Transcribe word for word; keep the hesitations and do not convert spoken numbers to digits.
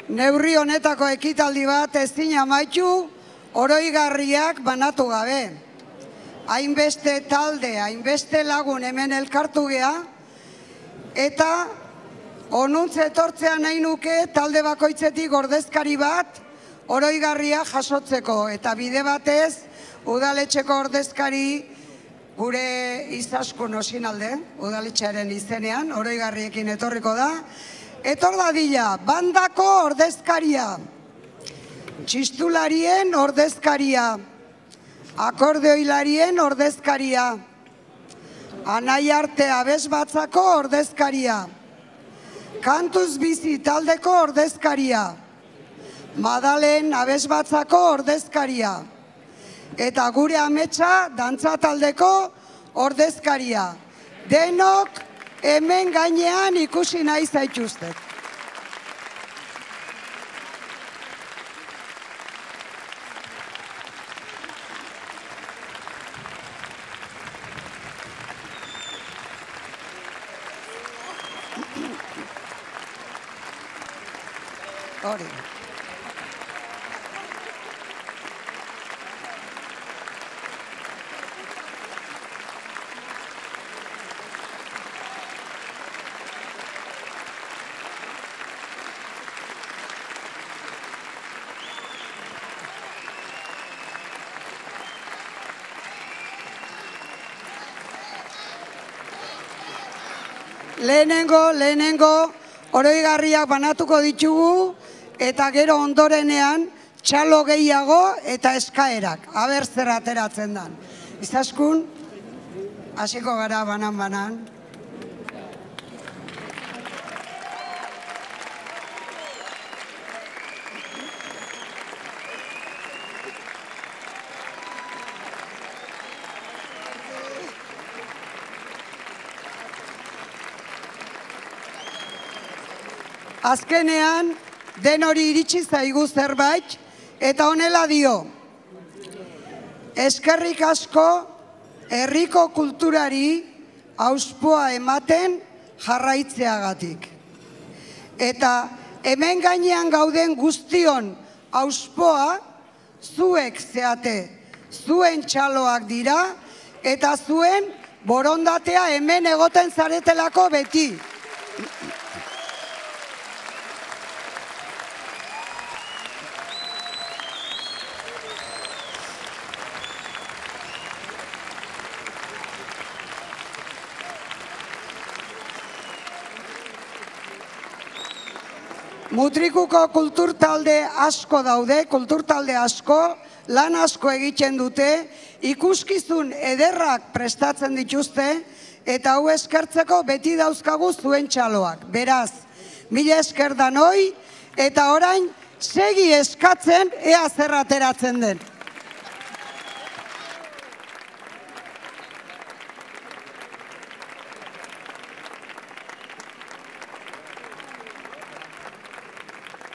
neurri honetako ekitaldi bat ezin amaitu oroigarriak banatu gabe. Hainbeste talde, hainbeste lagun hemen elkartu gea, eta onuntze etortzea nahi nuke talde bakoitzetik ordezkari bat oroigarria jasotzeko, eta bide batez udaletxeko ordezkari gure Izaskun Osinalde, udaletxearen izenean, oroigarriekin etorriko da. Etor dadila, bandako ordezkaria, txistularien ordezkaria, akordeoilarien ordezkaria, Anaiarte Abesbatzako ordezkaria, Kantuz Bizi taldeko ordezkaria, Madalen Abesbatzako ordezkaria, eta gure ametsa dantza taldeko ordezkaria. Denok hemen gainean ikusi nahi zaituztet. Hori. Lehenengo, lehenengo, oroigarriak banatuko ditugu, eta gero ondorenean txalo gehiago eta eskaerak. Aber zer ateratzen dan. Izaskun, hasiko gara banan-banan. Azkenean, den hori iritsi zaigu zerbait, eta honela dio. Eskerrik asko herriko kulturari auspoa ematen jarraitzeagatik. Eta hemen gainean gauden guztion auspoa zuek zeate, zuen txaloak dira, eta zuen borondatea hemen egoten zaretelako beti. Mutrikuko kulturtalde asko daude, kulturtalde asko, lan asko egiten dute, ikuskizun ederrak prestatzen dituzte, eta hau eskertzeko beti dauzkagu zuen txaloak. Beraz, mila esker danoi, eta orain segi eskatzen ea zer ateratzen den.